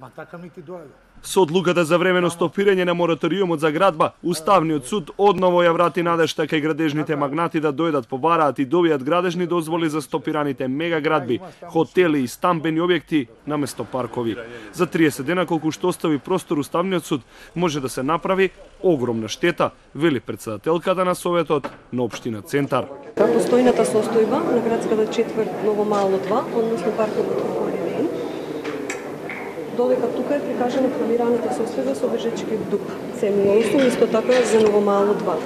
Ма така ми ти дојде. Со одлуката за времено стопирање на мораториумот за градба, Уставниот суд одново ја врати надежта кај градежните магнати да дојдат, побараат и добијат градежни дозволи за стопираните мегаградби, хотели и стамбени објекти наместо паркови. За 30 дена колку што остави простор Уставниот суд, може да се направи огромна штета, вели претседателката на Советот на општина Центар. Постојната состојба на градската четврт Новомало 2, односно парковот околина, додека тука е прикажана планираната состојба со Бежечки дуп. Семејство исто така за Новомало 2.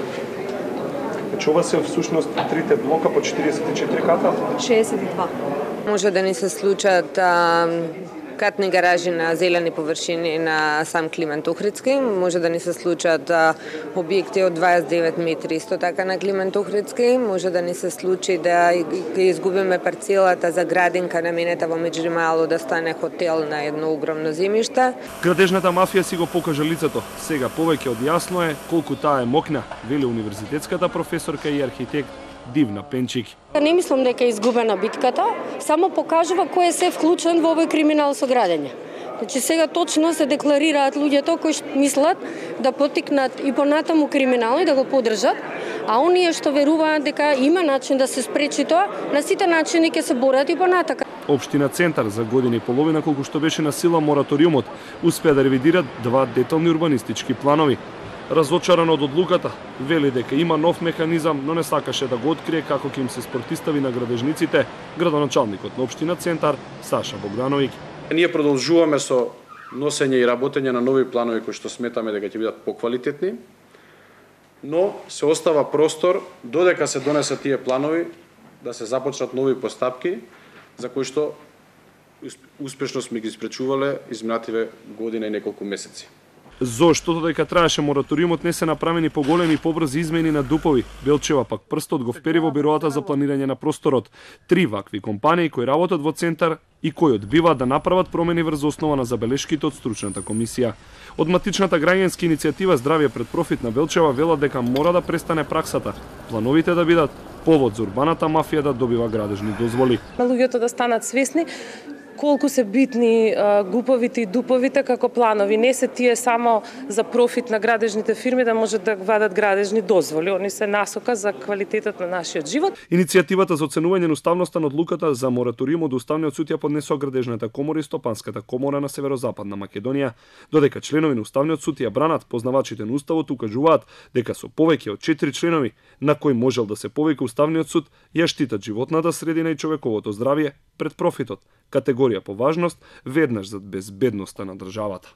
Значи ова се всушност трите блока по 44 ката? 62. Може да ни се случат катни гаражи на зелени површини на сам Климент Охридски, може да ни се случат објекти од 29 метри исто така на Климент Охридски, може да ни се случи да изгубиме парцелата за градинка наменета во Меѓримало да стане хотел на едно огромно земјиште. Градежната мафија си го покажа лицето. Сега повеќе од јасно е колку таа е мокна, вели универзитетската професорка и архитект Дивна Пенчик. Не мислам дека е изгубена битката, само покажува кој е се вклучен во овој криминал со градење. Значи сега точно се декларираат луѓето кои мислат да потикнат и понатаму криминал и да го поддржат, а оние што веруваат дека има начин да се спречи тоа, на сите начини ќе се борат и понатака. Општина Центар за година и половина колку што беше на сила мораториумот, успеа да ревидират два детални урбанистички планови. Разочаран од одлуката, вели дека има нов механизам, но не сакаше да го открие како ќе им се спортистави на градежниците, градоначалникот на општина Центар Саша Богдановиќ. Ние продолжуваме со носење и работење на нови планови кои што сметаме дека ќе бидат поквалитетни, но се остава простор додека се донесат тие планови да се започнат нови постапки за кои што успешно сме ги испречувале изминативе година и неколку месеци. Зошто додека траеше мораториумот не се направени поголеми и побрзи измени на дупови, Белчева пак прстот го впери во бироата за планирање на просторот. 3 вакви компании кои работат во Центар и кои одбиваат да направат промени врз основа на забелешките од стручната комисија. Од матичната граѓанска иницијатива Здравје пред профит на Белчева велат дека мора да престане праксата, плановите да бидат повод за урбаната мафија да добива градежни дозволи. Луѓето да станат свесни колку се битни гуповите и дуповите како планови. Не се тие само за профит на градежните фирми да можат да вадат градежни дозволи. Они се насока за квалитетот на нашиот живот. Иницијативата за оценување на уставноста на одлуката за мораториумот до Уставниот суд ја поднесоа Градежната комора и Стопанската комора на Северозападна Македонија, додека членови на Уставниот суд ја бранат, познавачите на Уставот укажуваат дека со повеќе од 4 членови на кои можел да се повика Уставниот суд ја штитат животната средина и човековото здравје пред профитот, категорија по важност веднаш за безбедноста на државата.